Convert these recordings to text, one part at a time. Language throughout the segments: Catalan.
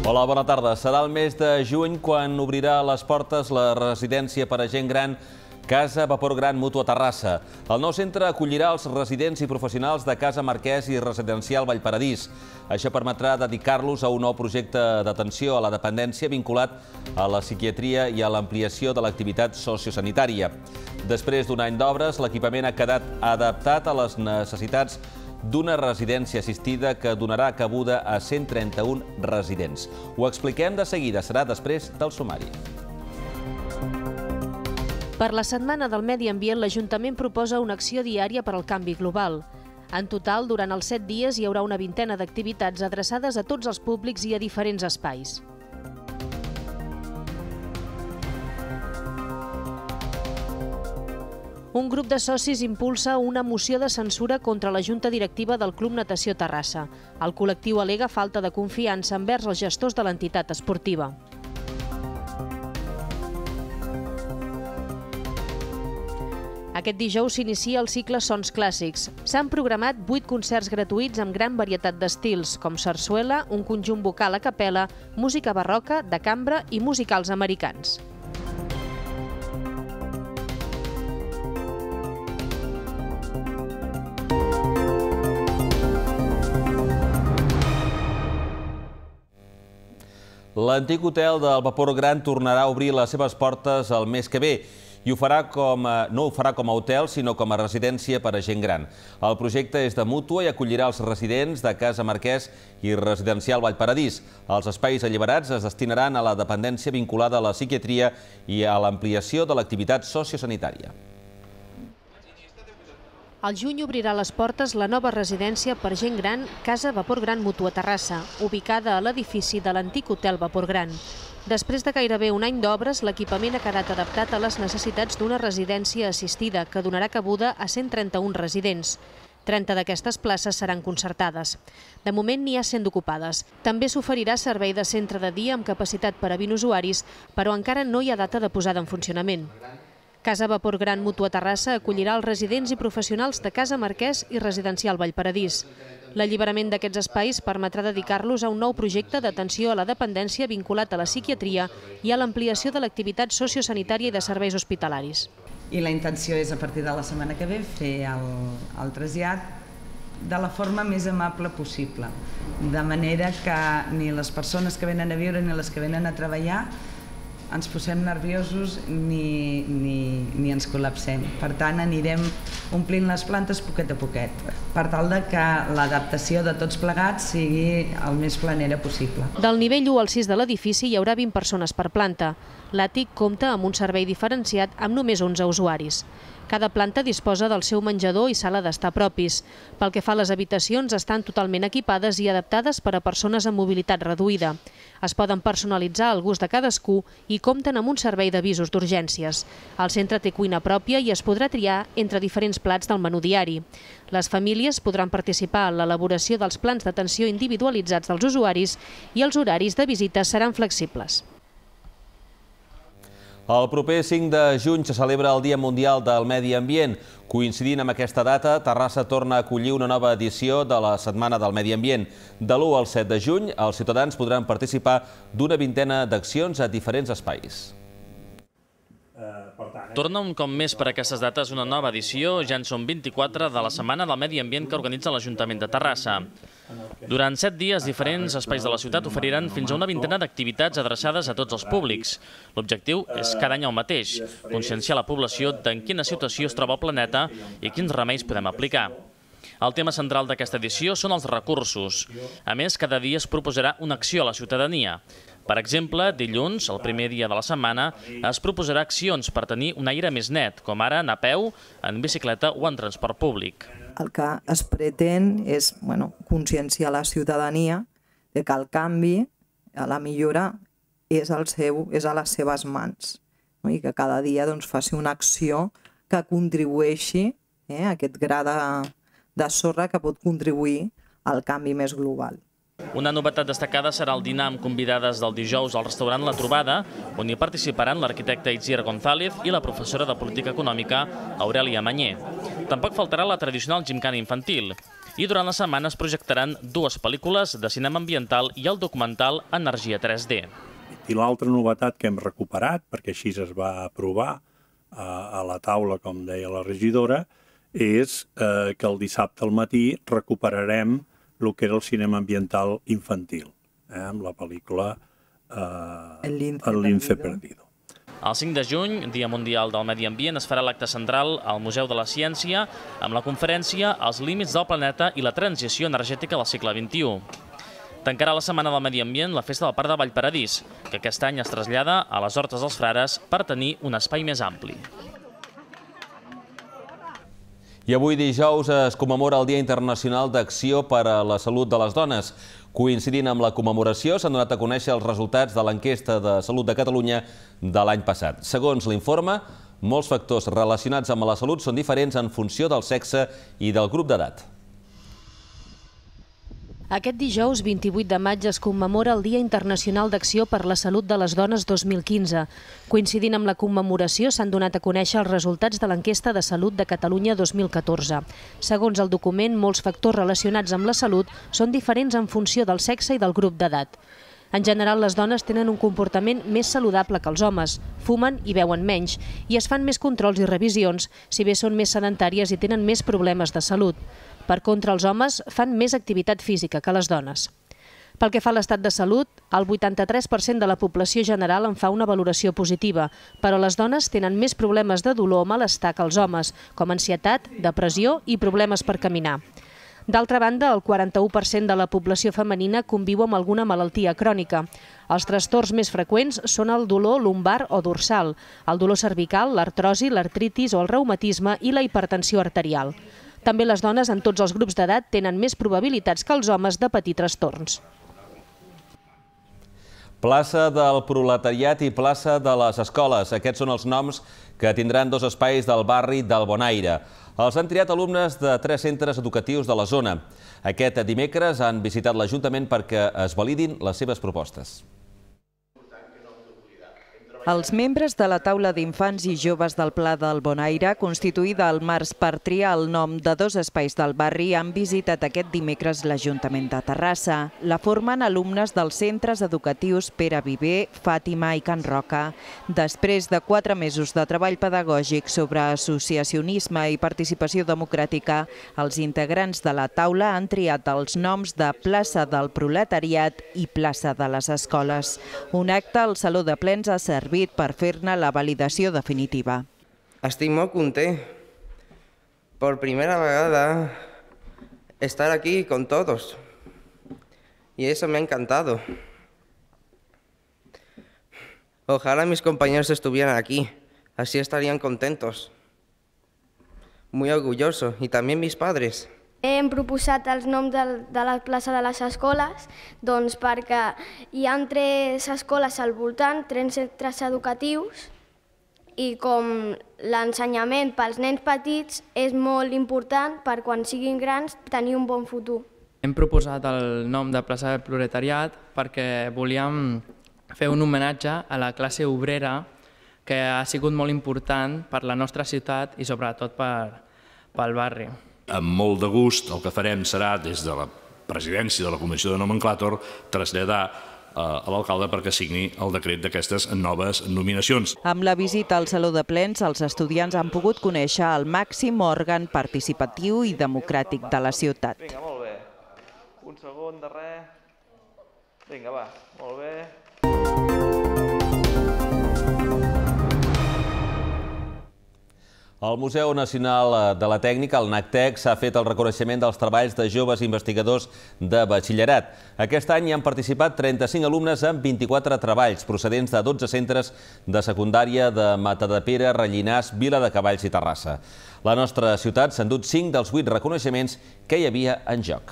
Hola, bona tarda. Serà el mes de juny quan obrirà les portes la residència per a gent gran Casa Vapor Gran Mutu a Terrassa. El nou centre acollirà els residents i professionals de Casa Marquès i Residencial Vallparadís. Això permetrà dedicar-los a un nou projecte d'atenció a la dependència vinculat a la psiquiatria i a l'ampliació de l'activitat sociosanitària. Després d'un any d'obres, l'equipament ha quedat adaptat a les necessitats d'una residència assistida que donarà cabuda a 131 residents. Ho expliquem de seguida, serà després del sumari. Per la Setmana del Medi Ambient, l'Ajuntament proposa una acció diària per al canvi global. En total, durant els 7 dies hi haurà una vintena d'activitats adreçades a tots els públics i a diferents espais. Un grup de socis impulsa una moció de censura contra la Junta Directiva del Club Natació Terrassa. El col·lectiu al·lega falta de confiança envers els gestors de l'entitat esportiva. Aquest dijous s'inicia el cicle Sons Clàssics. S'han programat 8 concerts gratuïts amb gran varietat d'estils, com sarsuela, un conjunt vocal a capella, música barroca, de cambra i musicals americans. L'antic hotel del Vapor Gran tornarà a obrir les seves portes el mes que ve i no ho farà com a hotel, sinó com a residència per a gent gran. El projecte és de mútua i acollirà els residents de Casa Marquès i Residencial Vallparadís. Els espais alliberats es destinaran a la dependència vinculada a la psiquiatria i a l'ampliació de l'activitat sociosanitària. Al juny obrirà les portes la nova residència per gent gran Casa Vapor Gran Mutu a Terrassa, ubicada a l'edifici de l'antic hotel Vapor Gran. Després de gairebé un any d'obres, l'equipament ha quedat adaptat a les necessitats d'una residència assistida que donarà cabuda a 131 residents. 30 d'aquestes places seran concertades. De moment n'hi ha 100 d'ocupades. També s'oferirà servei de centre de dia amb capacitat per a 20 usuaris, però encara no hi ha data de posada en funcionament. Casa Vapor Gran Mutu a Terrassa acollirà els residents i professionals de Casa Marquès i Residencial Vallparadís. L'alliberament d'aquests espais permetrà dedicar-los a un nou projecte d'atenció a la dependència vinculat a la psiquiatria i a l'ampliació de l'activitat sociosanitària i de serveis hospitalaris. I la intenció és, a partir de la setmana que ve, fer el trasllat de la forma més amable possible, de manera que ni les persones que venen a viure ni les que venen a treballar ens posem nerviosos ni ens col·lapsem. Per tant, anirem omplint les plantes poquet a poquet, per tal que l'adaptació de tots plegats sigui el més planera possible. Del nivell 1 al 6 de l'edifici hi haurà 20 persones per planta. L'àtic compta amb un servei diferenciat amb només 11 usuaris. Cada planta disposa del seu menjador i sala d'estar propis. Pel que fa a les habitacions, estan totalment equipades i adaptades per a persones amb mobilitat reduïda. Es poden personalitzar al gust de cadascú i compten amb un servei d'avisos d'urgències. El centre té cuina pròpia i es podrà triar entre diferents plats del menú diari. Les famílies podran participar en l'elaboració dels plans d'atenció individualitzats dels usuaris i els horaris de visita seran flexibles. El proper 5 de juny se celebra el Dia Mundial del Medi Ambient. Coincidint amb aquesta data, Terrassa torna a acollir una nova edició de la Setmana del Medi Ambient. De l'1 al 7 de juny, els ciutadans podran participar d'una vintena d'accions a diferents espais. Torna un cop més per aquestes dates una nova edició, ja en són 24, de la Setmana del Medi Ambient que organitza l'Ajuntament de Terrassa. Durant 7 dies, diferents espais de la ciutat oferiran fins a una vintena d'activitats adreçades a tots els públics. L'objectiu és cada any el mateix, conscienciar la població d'en quina situació es troba el planeta i quins remeis podem aplicar. El tema central d'aquesta edició són els recursos. A més, cada dia es proposarà una acció a la ciutadania. Per exemple, dilluns, el primer dia de la setmana, es proposarà accions per tenir un aire més net, com ara anar a peu, en bicicleta o en transport públic. El que es pretén és conscienciar la ciutadania de que el canvi, la millora, és a les seves mans i que cada dia faci una acció que contribueixi a aquest gra de sorra que pot contribuir al canvi més global. Una novetat destacada serà el dinar amb convidades del dijous al restaurant La Trobada, on hi participaran l'arquitecte Itziar González i la professora de Política Econòmica Aurèlia Mañé. Tampoc faltarà la tradicional gimcana infantil. i durant la setmana es projectaran 2 pel·lícules de cinema ambiental i el documental Energia 3D. I l'altra novetat que hem recuperat, perquè així es va aprovar a la taula, com deia la regidora, és que el dissabte al matí recuperarem el que era el cinema ambiental infantil, amb la pel·lícula El lince perdido. El 5 de juny, Dia Mundial del Medi Ambient, es farà l'acte central al Museu de la Ciència amb la conferència Els límits del planeta i la transició energètica del segle XXI. Tancarà la Setmana del Medi Ambient la Festa del Parc de Vallparadís, que aquest any es trasllada a les Hortes dels Frares per tenir un espai més ampli. I avui dijous es commemora el Dia Internacional d'Acció per a la Salut de les Dones. Coincidint amb la commemoració, s'han donat a conèixer els resultats de l'enquesta de salut de Catalunya de l'any passat. Segons l'informe, molts factors relacionats amb la salut són diferents en funció del sexe i del grup d'edat. Aquest dijous, 28 de maig, es commemora el Dia Internacional d'Acció per la Salut de les Dones 2015. Coincidint amb la commemoració, s'han donat a conèixer els resultats de l'enquesta de salut de Catalunya 2014. Segons el document, molts factors relacionats amb la salut són diferents en funció del sexe i del grup d'edat. En general, les dones tenen un comportament més saludable que els homes, fumen i beuen menys, i es fan més controls i revisions, si bé són més sedentàries i tenen més problemes de salut. Per contra, els homes fan més activitat física que les dones. Pel que fa a l'estat de salut, el 83% de la població general en fa una valoració positiva, però les dones tenen més problemes de dolor o malestar que els homes, com ansietat, depressió i problemes per caminar. D'altra banda, el 41% de la població femenina conviu amb alguna malaltia crònica. Els trastorns més freqüents són el dolor lumbar o dorsal, el dolor cervical, l'artrosi, l'artritis o el reumatisme i la hipertensió arterial. També les dones en tots els grups d'edat tenen més probabilitats que els homes de patir trastorns. Plaça del Proletariat i Plaça de les Escoles. Aquests són els noms que tindran 2 espais del barri del Bonaire. Els han triat alumnes de 3 centres educatius de la zona. Aquest dimecres han visitat l'Ajuntament perquè es validin les seves propostes. Els membres de la taula d'infants i joves del Pla del Bonaire, constituïda al març per triar el nom de 2 espais del barri, han visitat aquest dimecres l'Ajuntament de Terrassa. La formen alumnes dels centres educatius Pere Viver, Fàtima i Can Roca. Després de 4 mesos de treball pedagògic sobre associacionisme i participació democràtica, els integrants de la taula han triat els noms de Plaça del Proletariat i Plaça de les Escoles. Un acte al Saló de Plens ha servit per fer-ne la validació definitiva. Estic molt content. Por primera vegada estar aquí con todos. Y eso me ha encantado. Ojalá mis compañeros estuvieran aquí. Así estarían contentos. Muy orgulloso. Y también mis padres. Hem proposat els noms de la plaça de les escoles perquè hi ha 3 escoles al voltant, 3 centres educatius, i com l'ensenyament pels nens petits és molt important per quan siguin grans tenir un bon futur. Hem proposat el nom de plaça del Proletariat perquè volíem fer un homenatge a la classe obrera que ha sigut molt important per la nostra ciutat i sobretot pel barri. Amb molt de gust el que farem serà, des de la presidència de la Comissió de Nomenclàtor, traslladar a l'alcalde perquè signi el decret d'aquestes noves nominacions. Amb la visita al Saló de Plens, els estudiants han pogut conèixer el màxim òrgan participatiu i democràtic de la ciutat. Vinga, molt bé. Un segon de res. Vinga, va, molt bé. El Museu Nacional de la Tècnica, el NACTEC, s'ha fet el reconeixement dels treballs de joves investigadors de batxillerat. Aquest any hi han participat 35 alumnes amb 24 treballs, procedents de 12 centres de secundària de Matadepera, Rellinars, Viladecavalls i Terrassa. La nostra ciutat s'ha endut 5 dels 8 reconeixements que hi havia en joc.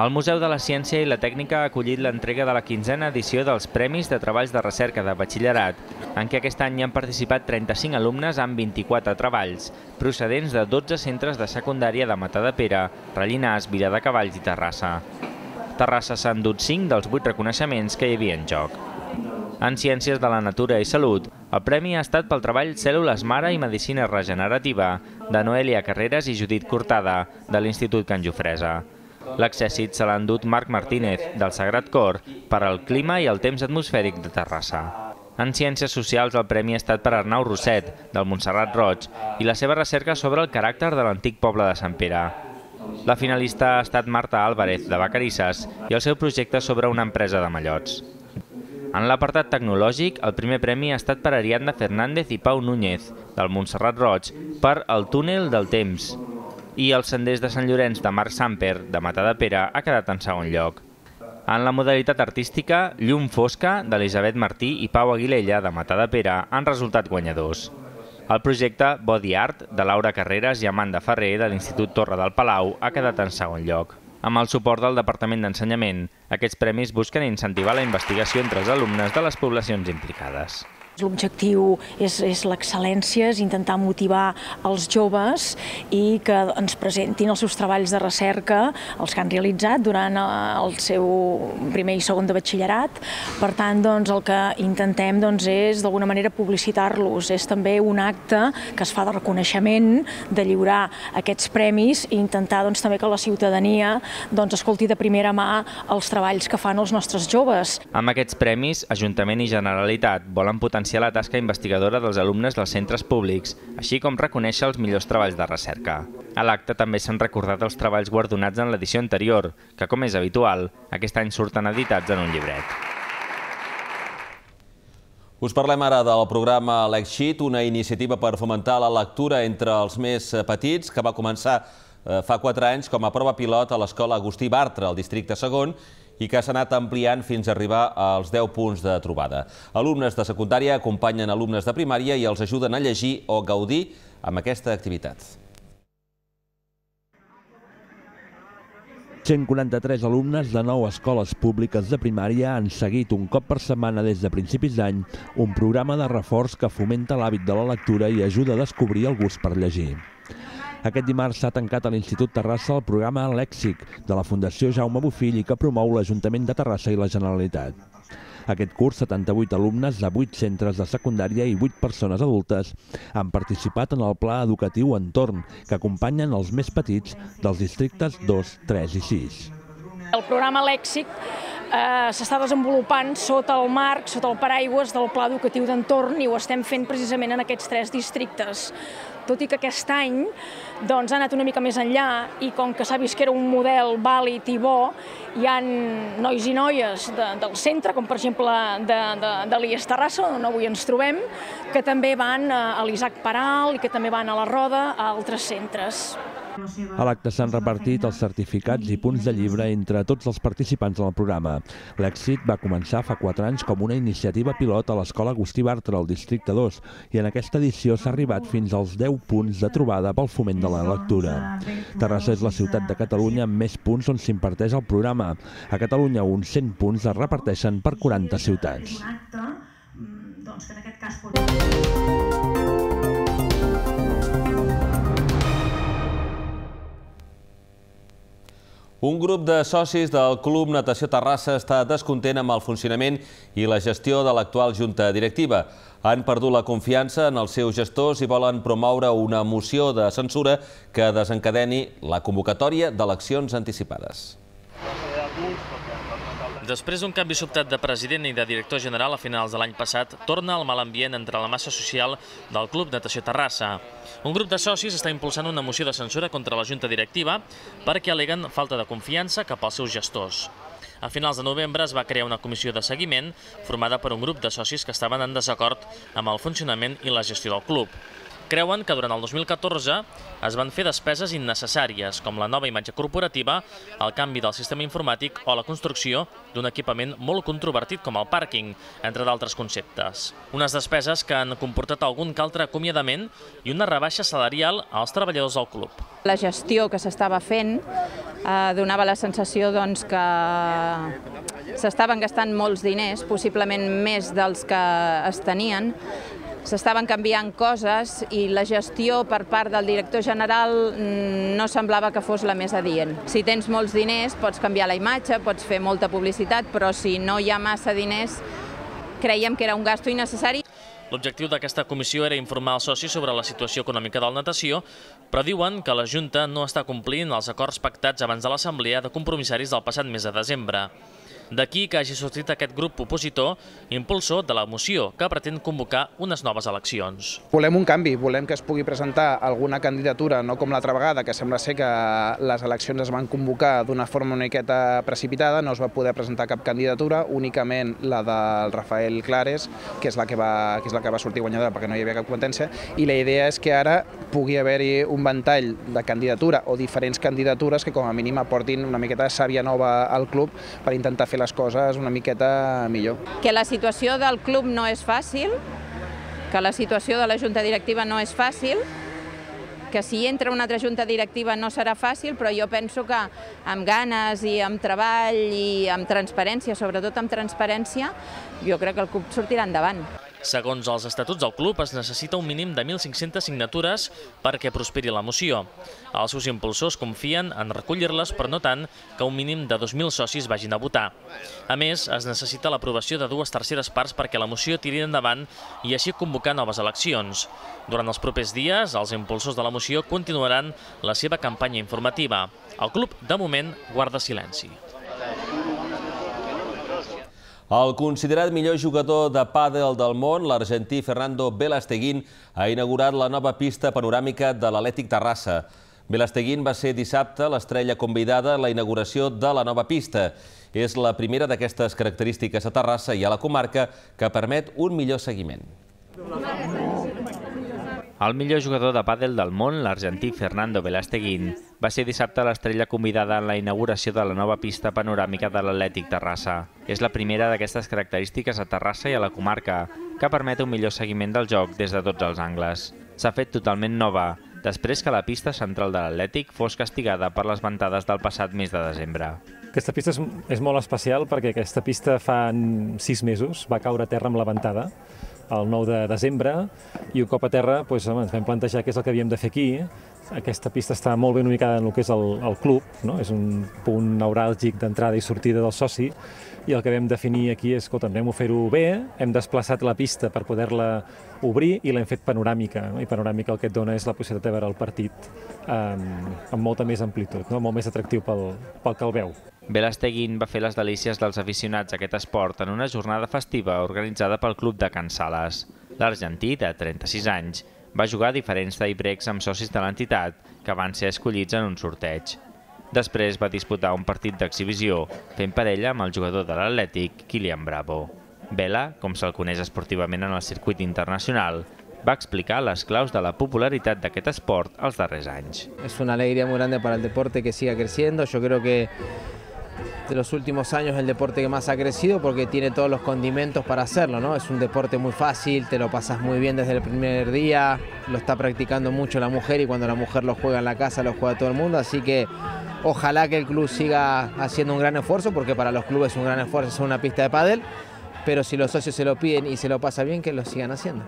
El Museu de la Ciència i la Tècnica ha acollit l'entrega de la 15a edició dels Premis de Treballs de Recerca de Batxillerat, en què aquest any hi han participat 35 alumnes amb 24 treballs, procedents de 12 centres de secundària de Matadepera, Rellinars, Viladecavalls i Terrassa. Terrassa s'ha endut 5 dels 8 reconeixements que hi havia en joc. En Ciències de la Natura i Salut, el premi ha estat pel treball Cèl·lules Mare i Medicina Regenerativa de Noelia Carreras i Judit Cortada, de l'Institut Can Jofresa. L'accèssit se l'ha endut Marc Martínez, del Sagrat Cor, per al clima i el temps atmosfèric de Terrassa. En Ciències Socials el premi ha estat per Arnau Rosset, del Montserrat Roig, i la seva recerca sobre el caràcter de l'antic poble de Sant Pere. La finalista ha estat Marta Álvarez, de Vacarisses, i el seu projecte sobre una empresa de mallots. En l'apartat tecnològic, el primer premi ha estat per Ariadna Fernández i Pau Núñez, del Montserrat Roig, per El túnel del temps. I els senders de Sant Llorenç de Marc Samper, de Matadepera, ha quedat en segon lloc. En la modalitat artística, Llum fosca, d'Elisabet Martí i Pau Aguilella, de Matadepera, han resultat guanyadors. El projecte Body Art, de Laura Carreras i Amanda Ferrer, de l'Institut Torre del Palau, ha quedat en segon lloc. Amb el suport del Departament d'Ensenyament, aquests premis busquen incentivar la investigació entre els alumnes de les poblacions implicades. L'objectiu és l'excel·lència, és intentar motivar els joves i que ens presentin els seus treballs de recerca, els que han realitzat durant el seu primer i segon de batxillerat. Per tant, el que intentem és d'alguna manera publicitar-los. És també un acte que es fa de reconeixement, de lliurar aquests premis i intentar també que la ciutadania escolti de primera mà els treballs que fan els nostres joves. Amb aquests premis, Ajuntament i Generalitat volen potenciar la tasca investigadora dels alumnes dels centres públics, així com reconèixer els millors treballs de recerca. A l'acte també s'han recordat els treballs guardonats en l'edició anterior, que, com és habitual, aquest any surten editats en un llibret. Us parlem ara del programa Lexit, una iniciativa per fomentar la lectura entre els més petits, que va començar fa 4 anys com a prova pilot a l'escola Agustí Bartra, al districte segon, i que s'ha anat ampliant fins a arribar als 10 punts de trobada. Alumnes de secundària acompanyen alumnes de primària i els ajuden a llegir o gaudir amb aquesta activitat. 143 alumnes de 9 escoles públiques de primària han seguit un cop per setmana des de principis d'any un programa de reforç que fomenta l'hàbit de la lectura i ajuda a descobrir el gust per llegir. Aquest dimarts s'ha tancat a l'Institut Terrassa el programa Lèxic de la Fundació Jaume Bofill i que promou l'Ajuntament de Terrassa i la Generalitat. Aquest curs, 78 alumnes de 8 centres de secundària i 8 persones adultes han participat en el Pla Educatiu Entorn, que acompanyen els més petits dels districtes 2, 3 i 6. El programa Lèxic s'està desenvolupant sota el marc, sota el paraigües del Pla Educatiu d'Entorn i ho estem fent precisament en aquests 3 districtes. Tot i que aquest any ha anat una mica més enllà i com que s'ha vist que era un model vàlid i bo, hi ha nois i noies del centre, com per exemple de l'IES Terrassa, on avui ens trobem, que també van a l'Isaac Peral i que també van a la Roda a altres centres. A l'acte s'han repartit els certificats i punts de llibre entre tots els participants del programa. L'èxit va començar fa 4 anys com una iniciativa pilot a l'escola Agustí Bartra, al districte 2, i en aquesta edició s'ha arribat fins als 10 punts de trobada pel foment de la lectura. Terrassa és la ciutat de Catalunya amb més punts on s'imparteix el programa. A Catalunya uns 100 punts es reparteixen per 40 ciutats. Un grup de socis del Club Natació Terrassa està descontent amb el funcionament i la gestió de l'actual junta directiva. Han perdut la confiança en els seus gestors i volen promoure una moció de censura que desencadeni la convocatòria d'eleccions anticipades. Després d'un canvi sobtat de president i de director general a finals de l'any passat, torna el mal ambient entre la massa social del Club Natació Terrassa. Un grup de socis està impulsant una moció de censura contra la junta directiva perquè al·leguen falta de confiança cap als seus gestors. A finals de novembre es va crear una comissió de seguiment formada per un grup de socis que estaven en desacord amb el funcionament i la gestió del club. Creuen que durant el 2014 es van fer despeses innecessàries, com la nova imatge corporativa, el canvi del sistema informàtic o la construcció d'un equipament molt controvertit com el pàrquing, entre d'altres conceptes. Unes despeses que han comportat algun que altre acomiadament i una rebaixa salarial als treballadors del club. La gestió que s'estava fent donava la sensació que s'estaven gastant molts diners, possiblement més dels que es tenien. S'estaven canviant coses i la gestió per part del director general no semblava que fos la més adient. Si tens molts diners pots canviar la imatge, pots fer molta publicitat, però si no hi ha massa diners creiem que era un gasto innecessari. L'objectiu d'aquesta comissió era informar els socis sobre la situació econòmica del natació, però diuen que la Junta no està complint els acords pactats abans de l'Assemblea de Compromissaris del passat mes de desembre. D'aquí que hagi sortit aquest grup opositor, impulsor de la moció, que pretén convocar unes noves eleccions. Volem un canvi, volem que es pugui presentar alguna candidatura, no com l'altra vegada, que sembla ser que les eleccions es van convocar d'una forma una miqueta precipitada, no es va poder presentar cap candidatura, únicament la del Rafael Clares, que és la que va sortir guanyadora perquè no hi havia cap competència, i la idea és que ara pugui haver-hi un ventall de candidatura o diferents candidatures que com a mínim aportin una miqueta de sàvia nova al club per intentar fer les coses una miqueta millor. Que la situació del club no és fàcil, que la situació de la junta directiva no és fàcil, que si entra una altra junta directiva no serà fàcil, però jo penso que amb ganes i amb treball i amb transparència, sobretot amb transparència, jo crec que el club sortirà endavant. Segons els estatuts del club, es necessita un mínim de 1.500 signatures perquè prosperi la moció. Els seus impulsors confien en recollir-les, però no tant que un mínim de 2.000 socis vagin a votar. A més, es necessita l'aprovació de 2/3 parts perquè la moció tiri endavant i així convocar noves eleccions. Durant els propers dies, els impulsors de la moció continuaran la seva campanya informativa. El club, de moment, guarda silenci. El considerat millor jugador de pàdel del món, l'argentí Fernando Velasteguín, ha inaugurat la nova pista panoràmica de l'Atlètic Terrassa. Velasteguín va ser dissabte l'estrella convidada en la inauguració de la nova pista. És la primera d'aquestes característiques a Terrassa i a la comarca que permet un millor seguiment. El millor jugador de pàdel del món, l'argentí Fernando Velasteguín, va ser dissabte l'estrella convidada en la inauguració de la nova pista panoràmica de l'Atlètic Terrassa. És la primera d'aquestes característiques a Terrassa i a la comarca, que permet un millor seguiment del joc des de tots els angles. S'ha fet totalment nova, després que la pista central de l'Atlètic fos castigada per les ventades del passat mes de desembre. Aquesta pista és molt especial perquè aquesta pista fa 6 mesos va caure a terra amb la ventada, el 9 de desembre, i un cop a terra ens vam plantejar què és el que havíem de fer aquí. Aquesta pista està molt ben ubicada en el que és el club, és un punt neuràlgic d'entrada i sortida del soci, i el que vam definir aquí és, escolta, hem de fer-ho bé, hem desplaçat la pista per poder-la obrir i l'hem fet panoràmica, i panoràmica el que et dona és la possibilitat de veure el partit amb molta més amplitud, molt més atractiu pel que el veu. Velasteguín va fer les delícies dels aficionats a aquest esport en una jornada festiva organitzada pel Club de Can Sales. L'argentí, de 36 anys, va jugar diferents tie-breaks amb socis de l'entitat que van ser escollits en un sorteig. Després va disputar un partit d'exhibició, fent parella amb el jugador de l'Atlètic, Kylian Bravo. Vela, com se'l coneix esportivament en el circuit internacional, va explicar les claus de la popularitat d'aquest esport els darrers anys. Es una alegría muy grande para el deporte que siga creciendo. Yo creo que de los últimos años el deporte que más ha crecido porque tiene todos los condimentos para hacerlo, ¿no? Es un deporte muy fácil, te lo pasas muy bien desde el primer día, lo está practicando mucho la mujer y cuando la mujer lo juega en la casa lo juega todo el mundo, así que ojalá que el club siga haciendo un gran esfuerzo porque para los clubes es un gran esfuerzo hacer una pista de pádel, pero si los socios se lo piden y se lo pasa bien, que lo sigan haciendo.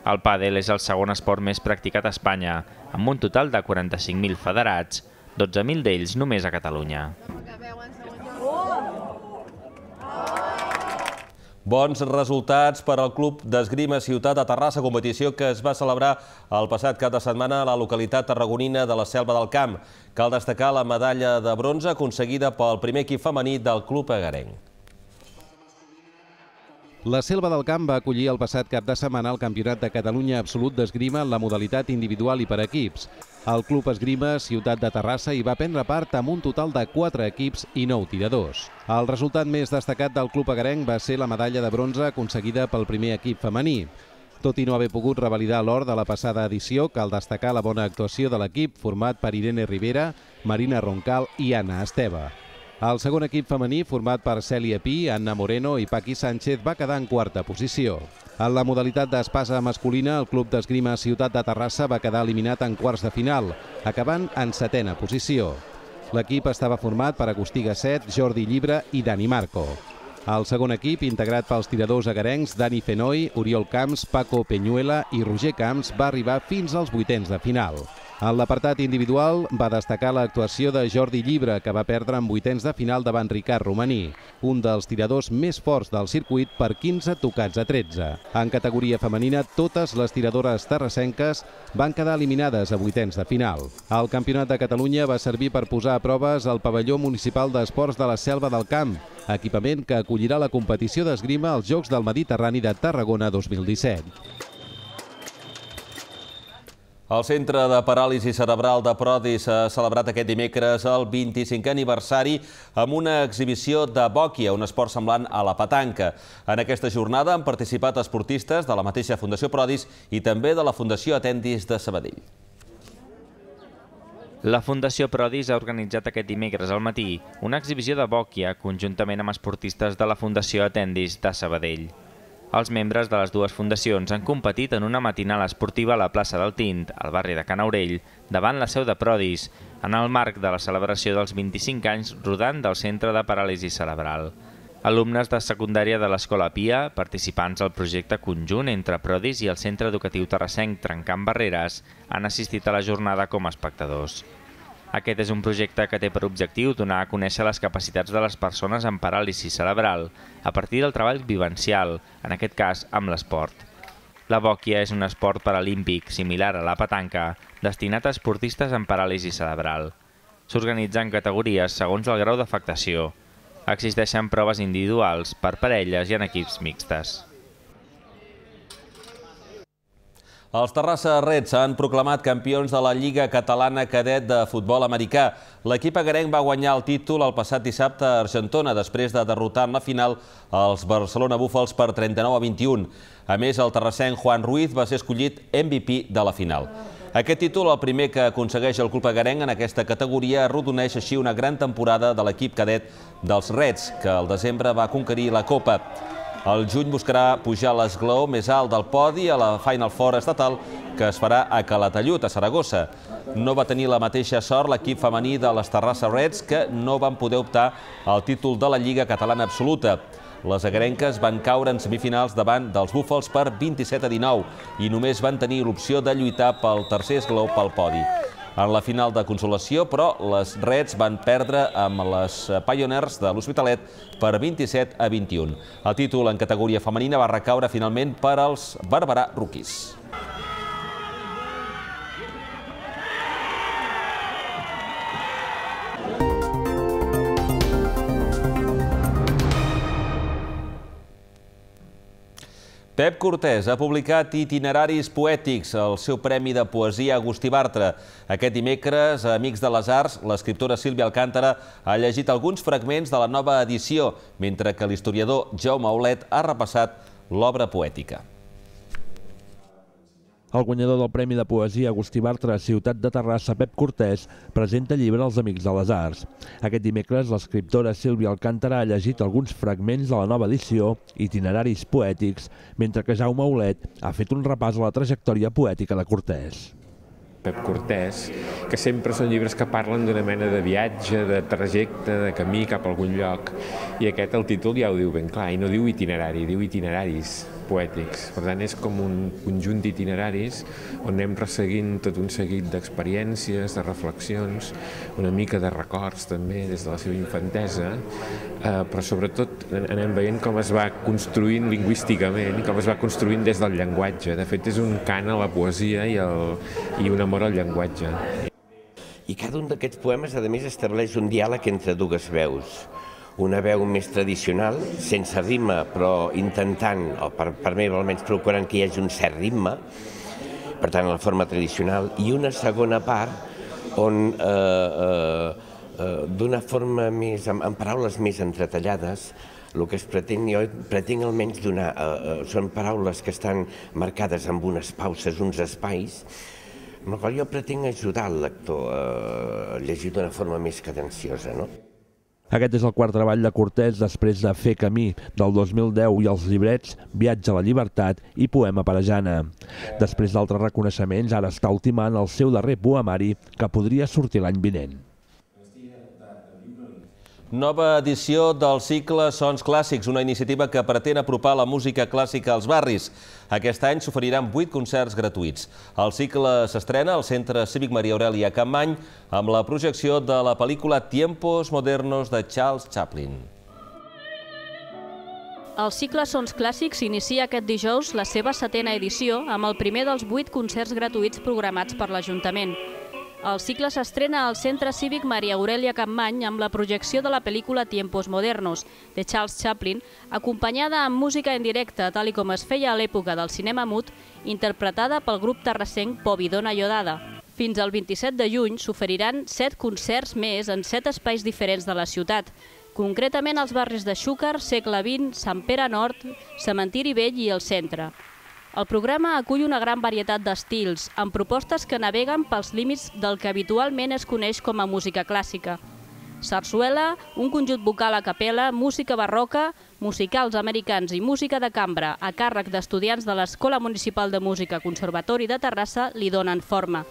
El pàdel és el segon esport més practicat a Espanya, amb un total de 45.000 federats, 12.000 d'ells només a Catalunya. Bons resultats per al Club d'Esgrima Ciutat de Terrassa, competició que es va celebrar el passat cap de setmana a la localitat tarragonina de la Selva del Camp. Cal destacar la medalla de bronze aconseguida pel primer equip femení del club egarenc. La Selva del Camp va acollir el passat cap de setmana el Campionat de Catalunya Absolut d'Esgrima en la modalitat individual i per equips. El Club Esgrima Ciutat de Terrassa hi va prendre part amb un total de 4 equips i 9 tiradors. El resultat més destacat del club egarenc va ser la medalla de bronze aconseguida pel primer equip femení. Tot i no haver pogut revalidar l'or de la passada edició, cal destacar la bona actuació de l'equip format per Irene Rivera, Marina Roncal i Anna Esteve. El segon equip femení, format per Cèlia Pi, Anna Moreno i Paqui Sánchez, va quedar en quarta posició. En la modalitat d'espasa masculina, el Club d'Esgrima Ciutat de Terrassa va quedar eliminat en quarts de final, acabant en setena posició. L'equip estava format per Agustí Gasset, Jordi Llibre i Dani Marco. El segon equip, integrat pels tiradors egarencs Dani Fenoi, Oriol Camps, Paco Peñuela i Roger Camps, va arribar fins als vuitens de final. En l'apartat individual va destacar l'actuació de Jordi Llibre, que va perdre en vuitens de final davant Ricard Romaní, un dels tiradors més forts del circuit per 15 tocats a 13. En categoria femenina, totes les tiradores terrassenques van quedar eliminades a vuitens de final. El Campionat de Catalunya va servir per posar a proves el pavelló municipal d'esports de la Selva del Camp, equipament que acollirà la competició d'esgrima als Jocs del Mediterrani de Tarragona 2017. El Centre de Paràlisi Cerebral de Prodis ha celebrat aquest dimecres el 25è aniversari amb una exhibició de bòquia, un esport semblant a la petanca. En aquesta jornada han participat esportistes de la mateixa Fundació Prodis i també de la Fundació Atendis de Sabadell. La Fundació Prodis ha organitzat aquest dimecres al matí una exhibició de bòquia conjuntament amb esportistes de la Fundació Atendis de Sabadell. Els membres de les dues fundacions han competit en una matinal esportiva a la plaça del Tint, al barri de Can Aurell, davant la seu de Prodis, en el marc de la celebració dels 25 anys rodant del Centre de Paràlisi Cerebral. Alumnes de secundària de l'Escola Pia, participants al projecte conjunt entre Prodis i el Centre Educatiu Terrassenc Trencant Barreres, han assistit a la jornada com a espectadors. Aquest és un projecte que té per objectiu donar a conèixer les capacitats de les persones amb paràlisi cerebral a partir del treball vivencial, en aquest cas amb l'esport. La bòquia és un esport paralímpic similar a la petanca, destinat a esportistes amb paràlisi cerebral. S'organitza en categories segons el grau d'afectació. Existeixen proves individuals, per parelles i en equips mixtes. Els Terrassa Reds s'han proclamat campions de la Lliga Catalana Cadet de Futbol Americà. L'equip agarenc va guanyar el títol el passat dissabte a Argentona després de derrotar en la final els Barcelona Búfals per 39-21. A més, el terrassenc Juan Ruiz va ser escollit MVP de la final. Aquest títol, el primer que aconsegueix el club agarenc en aquesta categoria, arrodoneix així una gran temporada de l'equip cadet dels Reds, que al desembre va conquerir la Copa. El juny buscarà pujar l'esglaó més alt del podi a la Final Four estatal que es farà a Calatayud, a Saragossa. No va tenir la mateixa sort l'equip femení de les Terrassa Reds, que no van poder optar al títol de la Lliga Catalana Absoluta. Les agarenques van caure en semifinals davant dels Búfals per 27-19 i només van tenir l'opció de lluitar pel tercer esglaó pel podi. En la final de consolació, però, les Reds van perdre amb les Pioneers de l'Hospitalet per 27-21. El títol en categoria femenina va recaure finalment per als Barberà Rookies. Pep Cortés ha publicat Itineraris poètics, el seu premi de poesia Agustí Bartra. Aquest dimecres, a Amics de les Arts, l'escriptora Sílvia Alcàntara ha llegit alguns fragments de la nova edició, mentre que l'historiador Jaume Aulet ha repassat l'obra poètica. El guanyador del Premi de Poesia Agustí Bartra a Ciutat de Terrassa, Pep Cortés, presenta el llibre als Amics de les Arts. Aquest dimecres, l'escriptora Sílvia Alcàntara ha llegit alguns fragments de la nova edició, Itineraris poètics, mentre que Jaume Aulet ha fet un repàs a la trajectòria poètica de Cortés. Pep Cortés, que sempre són llibres que parlen d'una mena de viatge, de trajecte, de camí cap a algun lloc. I aquest, el títol, ja ho diu ben clar, i no diu itinerari, diu itineraris poètics. Per tant, és com un conjunt d'itineraris on anem resseguint tot un seguit d'experiències, de reflexions, una mica de records també des de la seva infantesa, però sobretot anem veient com es va construint lingüísticament, com es va construint des del llenguatge. De fet, és un cant a la poesia i un amor al llenguatge. I cada un d'aquests poemes, a més, estableix un diàleg entre dues veus. Una veu més tradicional, sense ritme, però intentant, o per mi almenys procurant que hi hagi un cert ritme, per tant, la forma tradicional, i una segona part on, d'una forma més, amb paraules més entretallades, el que es pretén, jo pretenc almenys donar, són paraules que estan marcades amb unes pauses, uns espais, amb el qual jo pretenc ajudar el lector a llegir d'una forma més cadenciosa, no? Aquest és el quart treball de Cortés després de Fer camí, del 2010, i els llibrets Viatge a la llibertat i Poema per a Jana. Després d'altres reconeixements, ara està ultimant el seu darrer poemari, que podria sortir l'any vinent. Nova edició del cicle Sons Clàssics, una iniciativa que pretén apropar la música clàssica als barris. Aquest any s'oferiran 8 concerts gratuïts. El cicle s'estrena al Centre Cívic Maria Aurèlia Capmany amb la projecció de la pel·lícula Tiempos Modernos de Charles Chaplin. El cicle Sons Clàssics inicia aquest dijous la seva 7a edició amb el primer dels 8 concerts gratuïts programats per l'Ajuntament. El cicle s'estrena al Centre Cívic Maria Aurèlia Capmany amb la projecció de la pel·lícula Tiempos Modernos, de Charles Chaplin, acompanyada amb música en directe, tal com es feia a l'època del cinema mut, interpretada pel grup terrassenc Povidona Iodada. Fins al 27 de juny s'oferiran 7 concerts més en 7 espais diferents de la ciutat, concretament als barris de Xúquer, Segle XX, Sant Pere Nord, Cementiri Vell i el Centre. El programa acull una gran varietat d'estils, amb propostes que naveguen pels límits del que habitualment es coneix com a música clàssica. Sarsuela, un conjunt vocal a capella, música barroca, musicals americans i música de cambra a càrrec d'estudiants de l'Escola Municipal de Música Conservatori de Terrassa li donen forma.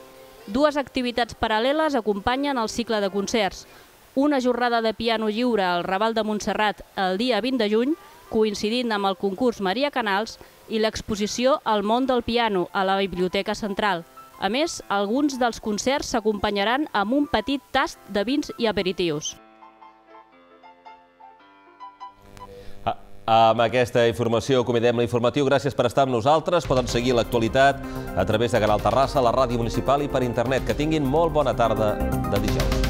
2 activitats paral·leles acompanyen el cicle de concerts. Una jornada de piano lliure al Raval de Montserrat el dia 20 de juny, coincidint amb el concurs Maria Canals, i l'exposició El món del piano a la Biblioteca Central. A més, alguns dels concerts s'acompanyaran amb un petit tast de vins i aperitius. Amb aquesta informació acomidem l'informatiu. Gràcies per estar amb nosaltres. Poden seguir l'actualitat a través de Canal Terrassa, la ràdio municipal i per internet. Que tinguin molt bona tarda de dijous.